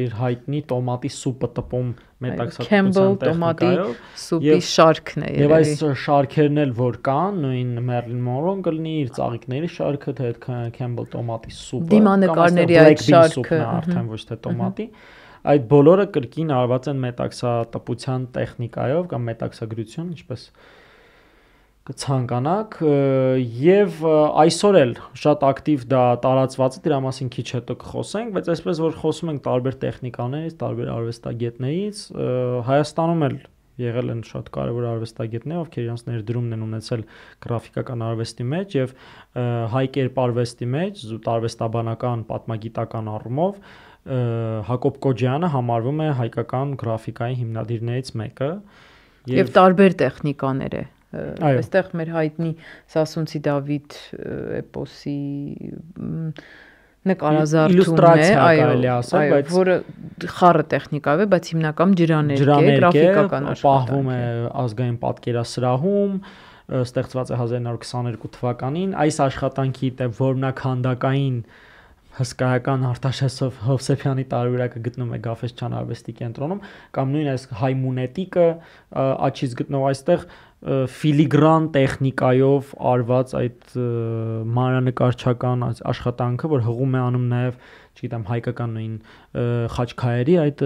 իր հայտնի տոմատի սուպը տպում մետաքսատպության տեխնիկայով, սուպի շարքն է Եվ այս շարքերն էլ որ կան, նույն Marilyn Monroe-ն կլինի իր ծաղիկների շարքը, թե Campbell տոմատի սուպը, դիմանեկարների այդ շարքը, արդեն ոչ թե տոմատի Այդ բոլորը կրկին արված են մետաքսատպության տեխնիկայով կամ մետաքսագրություն, ինչպես կցանկանաք, եւ այսօր էլ շատ ակտիվ դա տարածված է, դրա մասին քիչ հետո կխոսենք, բայց այսպես որ խոսում ենք տարբեր տեխնիկաներից, տարբեր արվեստագետներից, Հայաստանում էլ եղել են շատ կարևոր արվեստագետներ, ովքեր իրենց ներդրումն են ունեցել գրաֆիկական արվեստի մեջ եւ հայ կերպարվեստի մեջ, արվեստաբանական, պատմագիտական առումով Հակոբ Կոջյանը համարվում է հայկական գրաֆիկայի հիմնադիրներից մեկը եւ տարբեր տեխնիկաներ է այստեղ մեր հայտնի Սասունցի Դավիթ էպոսի նկարազարդումն է այո որը խառը տեխնիկայով է բայց հիմնական ջրաներկ է գրաֆիկական աշխատանք պահվում է ազգային պատկերասրահում ստեղծված է հազար իննսուն քսաներկու թվականին այս աշխատանքի որմնականդակային հսկայական Արտաշեսով Հովսեփյանի տարբերակը գտնում է Գաֆէսչյան արվեստի կենտրոնում, կամ նույն այս հայ մունետիկը աչից գտնող այստեղ ֆիլիգրան տեխնիկայով արված այդ մանրանկարչական աշխատանքը, որ հղում է անում նաև, չգիտեմ, հայկական նույն խաչքայերի այդ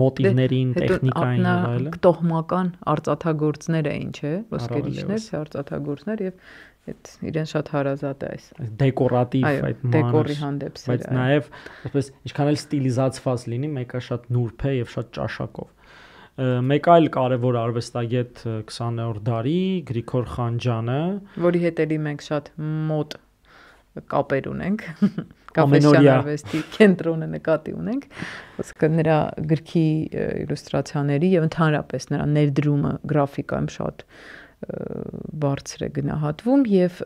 մոտիվներին, տեխնիկային եւ այլն։ Տոհմական արծաթագործներ էին, չէ՞, ոսկերիչներ, արծաթագործներ եւ այդ իրեն շատ հարազատ է այս դեկորատիվ այդ դեկորի հանդեպ սերը, բայց նաև այսպես ինչքան էլ ստիլիզացված լինի, մեկը շատ նուրբ է եւ շատ ճաշակով։ Մեկ այլ կարևոր արվեստագետ քսաներորդ դարի Գրիգոր Խանջյանը, որի հետ էլի մենք շատ մոտ կապեր ունենք, Գաֆէսչյան արվեստի կենտրոնը նկատի ունենք, ոսկե նրա գրքի իլյուստրացիաների եւ ընդհանրապես նրա ներդրումը գրաֆիկայում շատ բարձր է գնահատվում եւ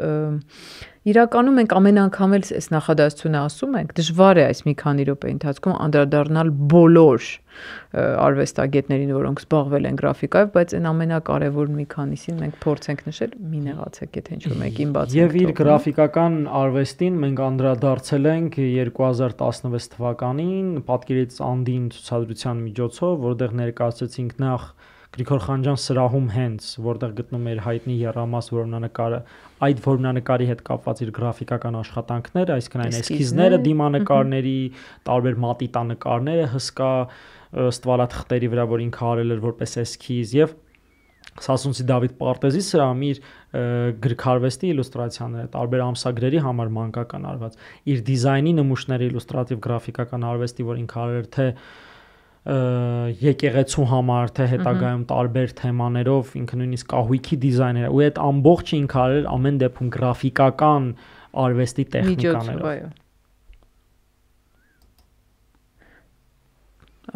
իրականում մենք ամեն անգամ էլ այս նախադասությունը ասում ենք, դժվար է այս մի քանի րոպեի ընթացքում անդրադառնալ բոլոր արվեստագետներին, որոնք զբաղվել են գրաֆիկայով, բայց այն ամենակարևոր մի քանիսին մենք փորձենք նշել, մի նեղացեք, եթե ինչ-որ մեկին բացենք։ Եվ իր գրաֆիկական արվեստին մենք անդրադարձել ենք երկու հազար տասնվեց թվականին Պատկերից Անդին ցուցադրության միջոցով, որտեղ ներկայացրեցինք նախ Գրիգոր Խանջյան սրահում հենց, որտեղ գտնում էր հայտնի եռամաս որմնանկարը, այդ որմնանկարի հետ կապված իր գրաֆիկական աշխատանքները, այսինքն այն էսքիզները, դիմանկարների, տարբեր մատիտանկարները, հսկա ստվարաթղթերի վրա, որ ինքը արել էր որպես էսքիզ, եւ Սասունցի Դավիթ Պարտեզի սրահում իր գրքարվեստի իլյուստրացիաները, տարբեր ամսագրերի համար մանկական արված, իր դիզայնի նմուշների իլյուստրատիվ գրաֆիկական արվեստի, որ ինքը արել էր թե եկեղեցու համար, թե հետագայում տարբեր թեմաներով, ինքը նույնիսկ կահույքի դիզայներ, ու այդ ամբողջը ինքը արել ամեն դեպքում գրաֆիկական արվեստի տեխնիկաներով։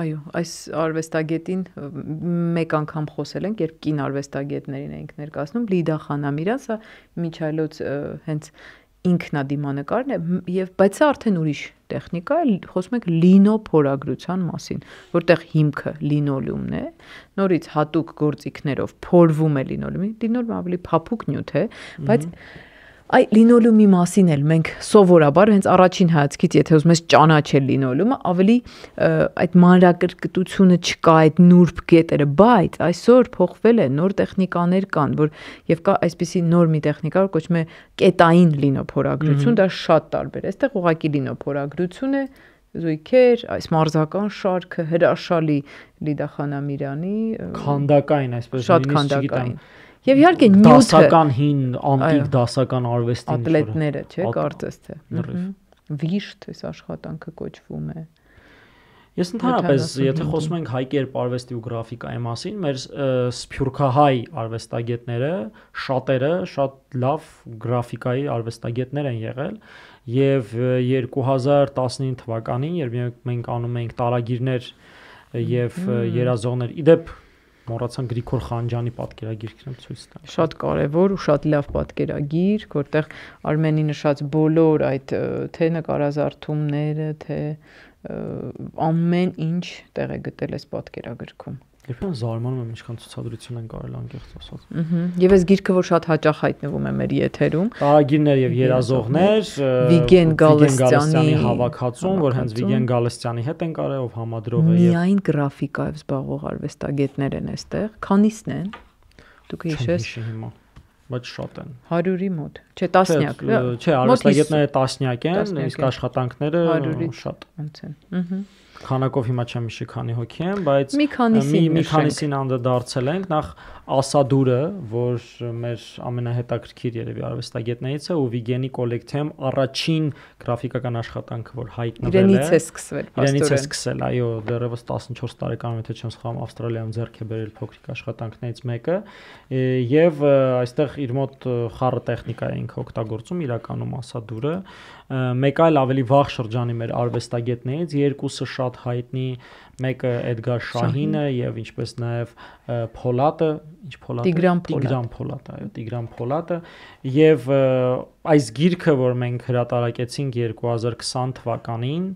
Այո, այս արվեստագետին մեկ անգամ խոսել ենք, երբ կին արվեստագետներին էինք ներկայացնում, Լիդա Խանամիրյանը, Միչայլոց հենց ինքնադիմանկարն է, եւ բայց սա արդեն ուրիշ տեխնիկա է, խոսում ենք լինո փորագրության մասին, որտեղ հիմքը լինոլեումն է, նորից հատուկ գործիքներով փորվում է լինոլեումը, լինոլեումը ավելի փափուկ նյութ է, բայց Այ լինոլեումի մասին էլ մենք սովորաբար հենց առաջին հայացքից, եթե ուզում ես ճանաչել լինոլեումը, ավելի այդ մանրակրկտությունը չկա, այդ նուրբ կետերը, բայց այսօր փոխվել է, նոր տեխնիկաներ կան, որ եւ կա այսպիսի նոր մի տեխնիկա, որ կոչվում է կետային լինոփորագրություն, դա շատ տարբեր է։ Այստեղ ուղղակի լինոփորագրություն է, զույգեր, այս մարզական շարքը հրաշալի Լիդա Խանամիրյանի քանդակային, այսպես շատ քանդակային Եվ իհարկե նյութը դասական հին անտիկ դասական արվեստի ատլետները, չէ, կարծես թե։ Վիշտ այս աշխատանքը կոչվում է։ Ես ընդհանրապես, եթե խոսում ենք հայ կերպ արվեստի ու գրաֆիկայի մասին, մեր սփյուռքահայ արվեստագետները շատերը շատ լավ գրաֆիկայի արվեստագետներ են եղել, եւ երկու հազար տասնինը թվականին, երբ մենք անում էինք տարագիրներ եւ երազողներ, իդեպ մոռացան Գրիգոր Խանջյանի պատկերագիրքն ցույց տալ։ Շատ կարևոր ու շատ լավ պատկերագիր, որտեղ Արմենի նշած բոլոր այդ թե նկարազարդումները, թե ամեն ինչ տեղ է գտել այս պատկերագրքում։ Երբեմն զարմանում եմ ինչքան ցուցադրություն են կարել անկեղծ ասած։ Եվ այս գիրքը, որ շատ հաճախ հայտնվում է մեր եթերում, տարագիրներ եւ երազողներ, Վիգեն Գալստյանի հավաքածուն, որ հենց Վիգեն Գալստյանի հետ են կարել, ով համադրող է եւ միայն գրաֆիկայով զբաղվող արվեստագետներ են այստեղ, քանիսն են։ Դուք հիշես։ Բայց շատ են։ հարյուրի մոտ, չէ, տասնյակ։ Չէ, արվեստագետները տասնյակ են, իսկ աշխատանքները շատ ոնց են։ Ահա Քանակով հիմա չեմ հիշի քանի հոգի են, բայց մի քանիսին անդրադարձել ենք, նախ Ասադուրը, որ մեր ամենահետաքրքիր երևի արվեստագետներից է, ու Վիգենի կոլեկցիայում առաջին գրաֆիկական աշխատանքը, որ հայտնվել է։ Իրենից է սկսվել, Իրենից է սկսել, այո, դեռևս տասնչորս տարեկանում, եթե չեմ սխալվում, Ավստրալիայում ձեռք է բերել փոքրիկ աշխատանքներից մեկը, եւ այստեղ իր մոտ խառը տեխնիկա է ինքը օգտագործում, իրականում Ասադուրը։ Մեկ այլ ավելի վաղ շրջանի մեր արվեստագետներից երկուսը շատ հայտնի, մեկը Էդգար Շահինը եւ ինչպես նաեւ Փոլատը, ինչ Փոլատը, Տիգրան Փոլատը, այո, Տիգրան Փոլատը, եւ այս գիրքը, որ մենք հրատարակեցինք երկու հազար քսան թվականին,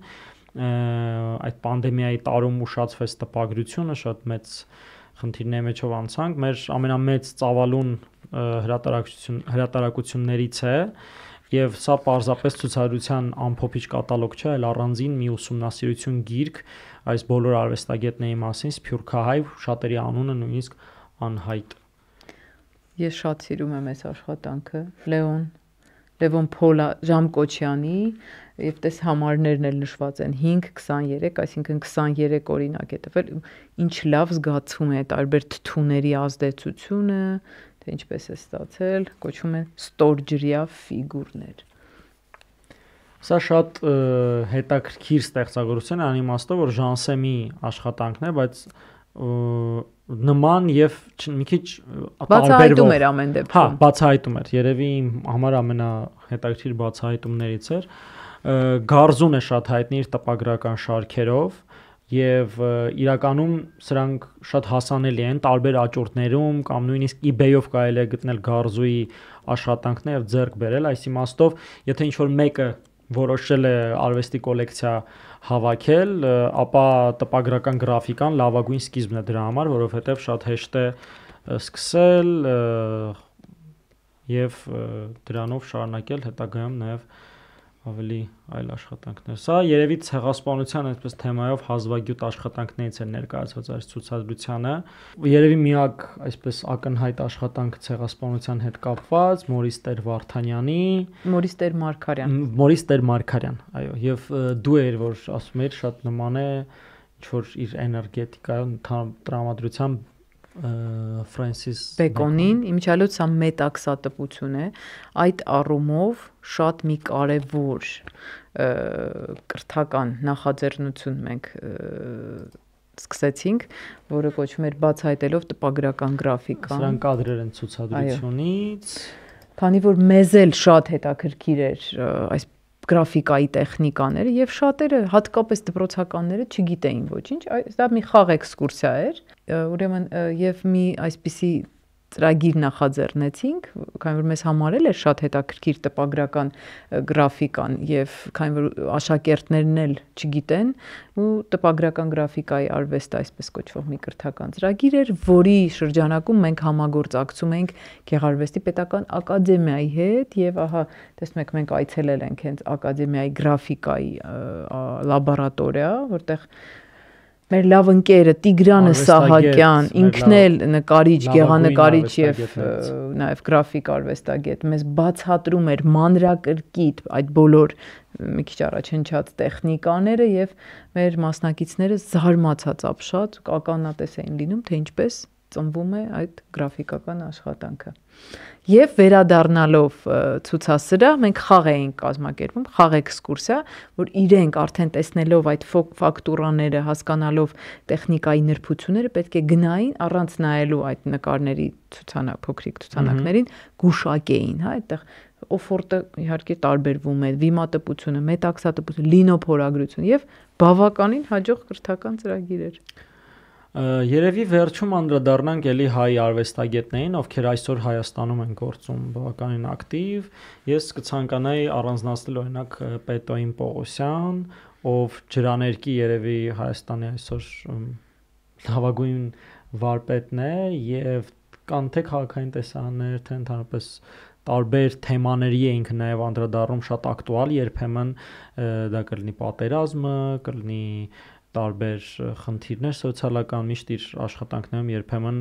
այդ պանդեմիայի տարում ուշացվեց տպագրությունը, շատ մեծ խնդիրների մեջով անցանք, մեր ամենամեծ ծավալուն հրատարակություն հրատարակություններից է, Եվ սա պարզապես ցուցադրության ամփոփիչ կատալոգ չէ, այլ առանձին մի ուսումնասիրություն գիրք այս բոլոր արվեստագետների մասին, սփյուռքահայ, շատերի անունը նույնիսկ անհայտ։ Ես շատ սիրում եմ այս աշխատանքը, Լեոն Լևոն Փոլա Ժամկոչյանի, եւ տես համարներն էլ նշված են հինգ քսաներեք, այսինքն քսաներեք օրինակ է տվել, ինչ լավ զգացվում է տարբեր թթուների ազդեցությունը, թե ինչպես է ստացել, կոչվում է ստորջրյա ֆիգուրներ։ Սա շատ հետաքրքիր ստեղծագործություն է անիմաստով, որ Ժանսեմի աշխատանքն է, բայց նման եւ մի քիչ բացահայտում էր ամեն դեպքում։ Հա, բացահայտում էր, երևի իմ համար ամենահետաքրքիր բացահայտումներից էր։ Գարզուն է շատ հայտնի իր տպագրական շարքերով եւ իրականում սրանք շատ հասանելի են տարբեր աճուրդներում կամ նույնիսկ eBay-ով կարելի է գտնել Գարզուի աշխատանքներ եւ ձեռք բերել, այս իմաստով, եթե ինչ-որ մեկը որոշել է արվեստի կոլեկցիա հավաքել, ապա տպագրական գրաֆիկան լավագույն սկիզբն է դրա համար, որովհետեւ շատ հեշտ է սկսել եւ դրանով շարունակել հետագայում նաեւ ավելի այլ աշխատանքներ։ Սա երևի ցեղասպանության այսպես թեմայով հազվագյուտ աշխատանքներից է ներկայացված այս ցուցադրությանը։ Երևի միակ այսպես ակնհայտ աշխատանքը ցեղասպանության հետ կապված Մորիս Տեր Վարդանյանի, Մորիս Տեր Մարգարյան։ Մորիս Տեր Մարգարյան, այո, եւ դու էր որ ասում էր շատ նման է ինչ որ իր էներգետիկայում տրամադրությամբ Ֆրանսիս Բեկոնին, իմիջիալոց սա մետաքսատպություն է, այդ առումով շատ մի կարևոր կրթական նախաձեռնություն մենք սկսեցինք, որը կոչվում էր բացահայտելով տպագրական գրաֆիկան։ Սրանք կադրեր են ցուցադրությունից։ Քանի որ մեզ էլ շատ հետաքրքիր էր այս գրաֆիկայի տեխնիկաները եւ շատերը հատկապես դպրոցականները չգիտեին ոչինչ, դա մի խաղ էքսկուրսիա էր, ուրեմն եւ մի այսպիսի ծրագիր նախաձեռնեցինք, քանի որ մեզ համարել էր շատ հետաքրքիր տպագրական գրաֆիկան եւ քանի որ աշակերտներն էլ չգիտեն ու տպագրական գրաֆիկայի արվեստը այսպես կոչվող մի կրթական ծրագիր էր, որի շրջանակում մենք համագործակցում ենք Գեղարվեստի պետական ակադեմիայի հետ եւ ահա տեսնում եք մենք այցելել ենք հենց ակադեմիայի գրաֆիկայի լաբորատորիա, որտեղ մեր լավ ընկերը Տիգրանը Սահակյան, ինքն էլ նկարիչ, գեղանկարիչ եւ նաեւ գրաֆիկ արվեստագետ, մեզ բացատրում էր մանրակրկիտ այդ բոլոր մի քիչ առաջ հնչած տեխնիկաները եւ մեր մասնակիցները զարմացած ապշած ականատես էին լինում, թե ինչպես ծնվում է այդ գրաֆիկական աշխատանքը։ Եվ վերադառնալով ցուցասրահ մենք խաղ էինք կազմակերպում, խաղ էքսկուրսիա, որ իրենք արդեն տեսնելով այդ ֆակտուրաները, հասկանալով տեխնիկայի նրբությունները, պետք է գնային առանց նայելու այդ նկարների ցուցանակ, փոքրիկ ցուցանակներին, գուշակեին, հա, այդտեղ օֆորտը իհարկե տարբերվում է, վիմատպությունը, մետաքսատպությունը, լինոփորագրություն եւ բավականին հաջող կրթական ծրագիր էր։ Երևի վերջում անդրադառնանք էլի հայ արվեստագետներին, ովքեր այսօր Հայաստանում են գործում բավականին ակտիվ։ Ես կցանկանայի առանձնացնել օրինակ Պետոյին Պողոսյան, ով ջրաներկի երևի Հայաստանի այսօր լավագույն վարպետն է եւ կան թե քաղաքային տեսարաններ, թե ընդհանրապես տարբեր թեմաների էինք նաև անդրադառնում շատ ակտուալ, երբեմն դա կլինի պատերազմը, կլինի տարբեր խնդիրներ սոցիալական, միշտ իր աշխատանքներում երբեմն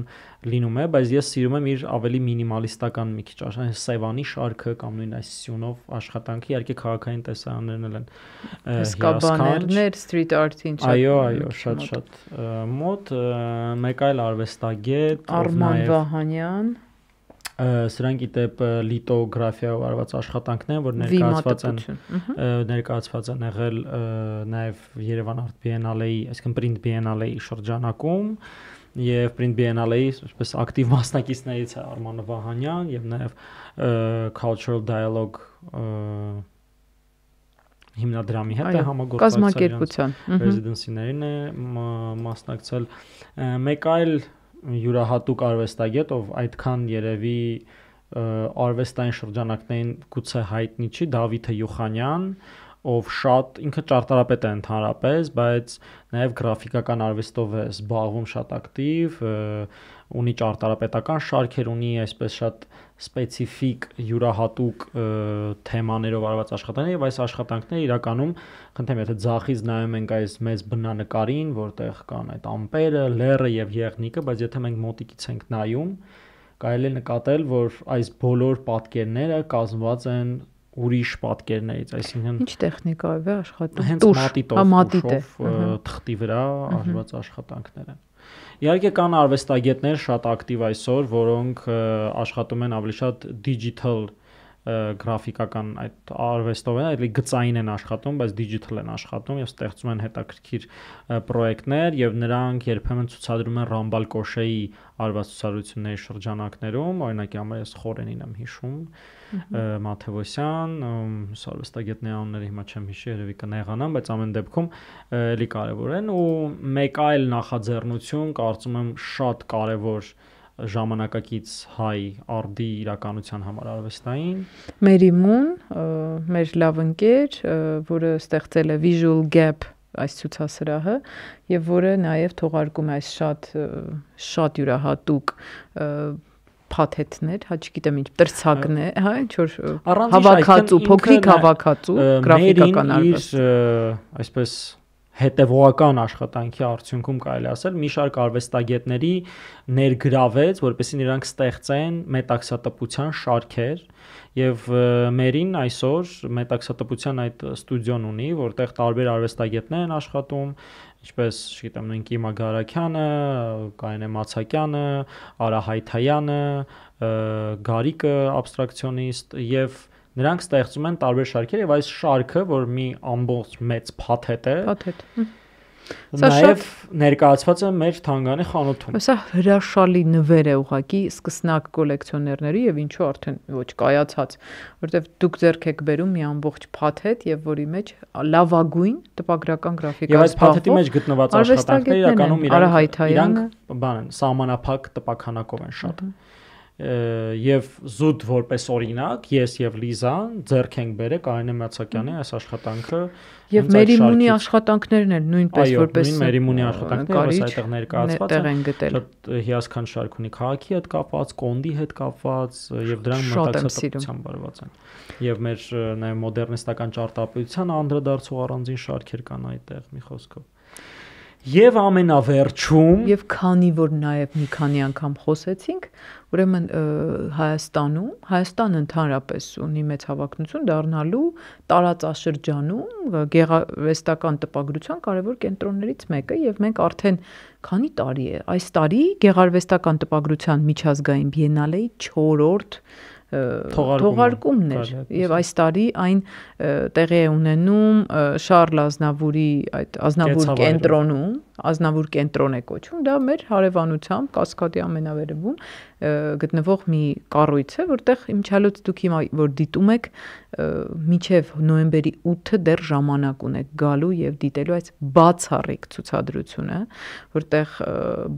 լինում է, բայց ես սիրում եմ իր ավելի մինիմալիստական մի քիչ աշխատանքը, Սևանի շարքը կամ նույն այս սյունով աշխատանքը, իհարկե քաղաքային տեսարաններն էլ են հսկաբաներներ, street art-ին շատ։ Այո, այո, շատ-շատ մոտ, մեկ այլ արվեստագետ, Արման Վահանյան, սրանք իդեպ լիտոգրաֆիայով արված աշխատանքներ, որ ներկայացված են ներկայացված են եղել նաև Երևան Art Biennale-ի, այսինքն Print Biennale-ի շրջանակում եւ Print Biennale-ի այսպես ակտիվ մասնակիցներից է Արման Վահանյան եւ նաև Cultural Dialogue հիմնադրամի հետ է համագործակցության ռեզիդենսիներին է մասնակցել, մեկ այլ յուրահատուկ արվեստագետ, ով այդքան երևի արվեստային շրջանակներին գուցե հայտնի չի, Դավիթ Յուխանյան, ով շատ ինքը ճարտարապետ է ընդհանրապես, բայց նաև գրաֆիկական արվեստով է զբաղվում շատ ակտիվ, ունի ճարտարապետական շարքեր, ունի այսպես շատ սպეციფიկ յուրահատուկ թեմաներով արված աշխատանքներ եւ այս աշխատանքները իրականում խնդրեմ եթե ձախից նայում ենք այս մեծ բնանկարին, որտեղ կան այդ ամպերը, լեռը եւ եղնիկը, բայց եթե մենք մոտիկից ենք նայում, կարելի է նկատել, որ այս բոլոր պատկերները կազմված են ուրիշ պատկերներից, այսինքն Ինչ տեխնիկայով է աշխատում։ Հենց մատիտով, թղթի վրա արված աշխատանքներ են։ Իհարկե կան արվեստագետներ շատ ակտիվ այսօր, որոնք աշխատում են ավելի շատ digital գրաֆիկական այդ արվեստով են, այլ գծային են աշխատում, բայց digital են աշխատում եւ ստեղծում են հետաքրքիր պրոյեկտներ եւ նրանք երբեմն ցուցադրում են Ռամբալ Կոշեի արված ցուցադրությունների շրջանակներում, օրինակի համար ես Խորենին եմ հիշում, Մաթեոսյան, արվեստագետների անունները հիմա չեմ հիշի, երևի կնեղանամ, բայց ամեն դեպքում էլի կարեւոր են ու մեկ այլ նախաձեռնություն կարծում եմ շատ կարեւոր ժամանակակից հայ արդի իրականության համար արվեստային Մերիմուն, մեր լավ ընկեր, որը ստեղծել է Visual Gap այս ցուցասրահը եւ որը նաեւ թողարկում է այս շատ շատ յուրահատուկ փաթեթներ, հա չգիտեմ ինչ, տրցակն է, հա, ինչ որ հավաքածու, փոքրիկ հավաքածու, գրաֆիկական արվեստ, այսպես հետևողական աշխատանքի արդյունքում կարելի ասել մի շարք արվեստագետների ներգրավեց, որպեսզի նրանք ստեղծեն մետաքսատպության շարքեր եւ մերին այսօր մետաքսատպության այդ ստուդիոն ունի, որտեղ տարբեր արվեստագետներ են աշխատում, ինչպես, չգիտեմ, նույն Կիմա Գարաքյանը, Կարինե Մացակյանը, Արա Հայթայանը, Գարիկը աբստրակցիոնիստ եւ նրանք ստեղծում են տարբեր շարքեր եւ այս շարքը, որ մի ամբողջ մեծ փաթեթ է, փաթեթ։ Նաև ներկայացված է մեր թանգարանի խանութում։ Սա հրաշալի նվեր է ուղղակի սկսնակ կոլեկցիոներների եւ ինչու արդեն ոչ կայացած, որովհետեւ դուք ձեռք եք բերում մի ամբողջ փաթեթ եւ որի մեջ լավագույն տպագրական գրաֆիկա եւ այս փաթեթի մեջ գտնված աշխատանքները իրականում իրանք իրանք բան են, սահմանափակ տպաքանակով են շատ։ Եվ զուտ որպես օրինակ ես եւ Լիզան ձեռք ենք բերել Կարինե Մացակյանի այս աշխատանքը եւ Մերիմունի աշխատանքներն էլ նույնպես որպես Մերիմունի աշխատանքները այստեղ ներկայացված են շատ հիասքանչ շարք ունի քաղաքի հետ կապված, կոնդի հետ կապված եւ դրանք մտածողությամբ բարված են եւ մեր նաեւ մոդեռնիստական ճարտարապետության անդրադարձող առանձին շարքեր կան այդտեղ մի խոսքով Եվ ամենավերջում եւ քանի որ նաեւ մի քանի անգամ խոսեցինք, ուրեմն Հայաստանում, Հայաստանը ընդհանրապես ունի մեծ հավակնություն դառնալու տարածաշրջանում գեղարվեստական տպագրության կարևոր կենտրոններից մեկը եւ մենք արդեն քանի տարի է, այս տարի գեղարվեստական տպագրության միջազգային բիենալեի չորրորդ թողարկումն էր եւ այս տարի այն տեղի է ունենում Շարլ Ազնավուրի այդ Ազնավուր կենտրոնում, Ազնավուր կենտրոն է կոչվում, դա մեր հարևանությամբ Կասկադի ամենավերևում գտնվող մի կառույց է, որտեղ իմչալոց դուք հիմա որ դիտում եք մինչև նոյեմբերի ութը դեռ ժամանակ ունեք գալու եւ դիտելու այս բացառիկ ցուցադրությունը, որտեղ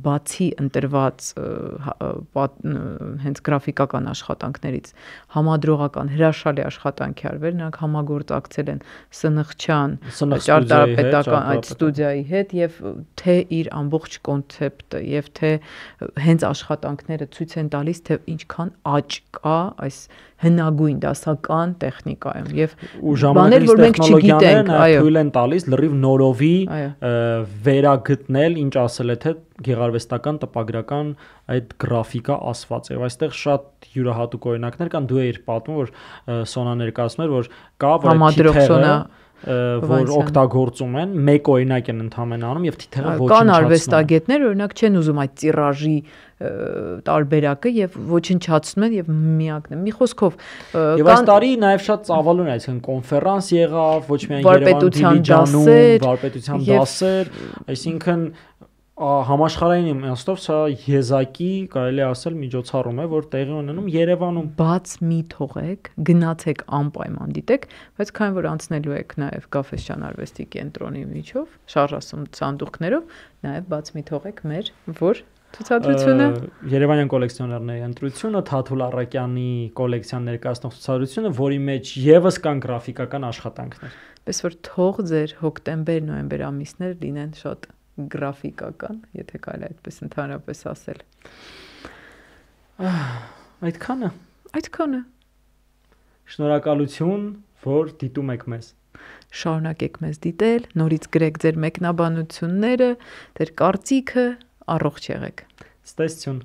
բացի ընտրված հենց գրաֆիկական աշխատանքներից համադրողական հրաշալի աշխատանք է արվել, նրանք համագործակցել են Սնխչյան ճարտարապետական այդ ստուդիայի հետ եւ թե իր ամբողջ կոնցեպտը եւ թե հենց աշխատանքները ցույց են տալիս թե ինչքան աճ կա այս հնագույն դասական տեխնիկայում եւ բաներ որ մենք չգիտենք, այո, թույլ են տալիս լրիվ նորովի վերագտնել, ինչ ասել է թե գեղարվեստական տպագրական այդ գրաֆիկա ասված եւ այստեղ շատ յուրահատուկ օրինակներ կան, դու էիր պատմում որ Սոնա ներկայացնում էր որ կա որ որ օգտագործում են, մեկ օրինակ են ընդհանրապես անում եւ թիթեղը ոչնչացնում։ Կան արվեստագետներ, օրինակ չեն ուզում այդ տիրաժի տարբերակը եւ ոչնչացնում են եւ միակն է։ Մի խոսքով եւ այս տարի նաեւ շատ ծավալուն է, այսինքն կոնֆերանս եղավ, ոչ միայն Երևան Դիլիջանում, վարպետության դասեր, այսինքն համաշխարհային իմաստով սա եզակի կարելի ասել միջոցառում է, որ տեղի ունենում Երևանում։ Բաց մի թողեք, գնացեք անպայման դիտեք, բայց քանի որ անցնելու եք նաև Գաֆեսյան արվեստի կենտրոնի միջով, շարժասում սանդուղքներով, նաև բաց մի թողեք մեր որ ցուցադրությունը Երևանյան կոլեկցիոներների ընտրությունը, Թաթուլ Առակյանի կոլեկցիան ներկայացնող ցուցադրությունը, որի մեջ եւս կան գրաֆիկական աշխատանքներ։ Պես որ թող ձեր հոկտեմբեր-նոյեմբեր ամիսներ լինեն շատ գրաֆիկական, եթե կարելի այդպես ընդհանրապես ասել։ Այդքանը։ Այդքանը։ Շնորհակալություն, որ դիտում եք մեզ։ Շարունակեք մեզ դիտել, նորից գրեք ձեր մեկնաբանությունները, ձեր կարծիքը, առողջ եղեք։ Ստեսություն։